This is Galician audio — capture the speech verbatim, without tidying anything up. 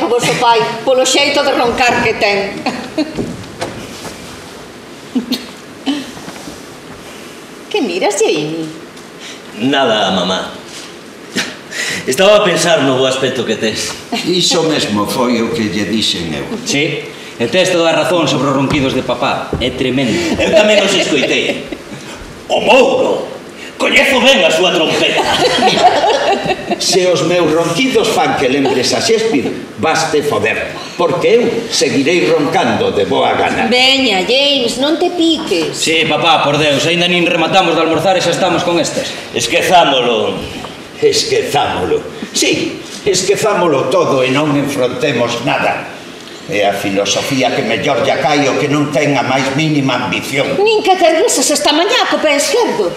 o vosso pai polo xeito de roncar que ten. Que miras, Jamie? Nada, mamá. Estaba a pensar no bo aspecto que tes. Iso mesmo foi o que lle dixen eu. Sí, e tes toda a razón sobre os ronquidos de papá. É tremendo. Eu tamén os escoitei. O Mouro! Coñezo ben a súa trompeta. Se os meus ronquidos fan que lembres a Shakespeare, baste foder, porque eu seguirei roncando de boa gana. Veña, James, non te piques. Sí, papá, por Deus, ainda nin rematamos de almorzar e xa estamos con estes. Esquezámolo. Esquezámolo. Sí, esquezámolo todo e non enfrontemos nada. É a filosofía que mellor lle cae o que non ten a máis mínima ambición. Nin que te regresas esta mañá co pé esquerdo.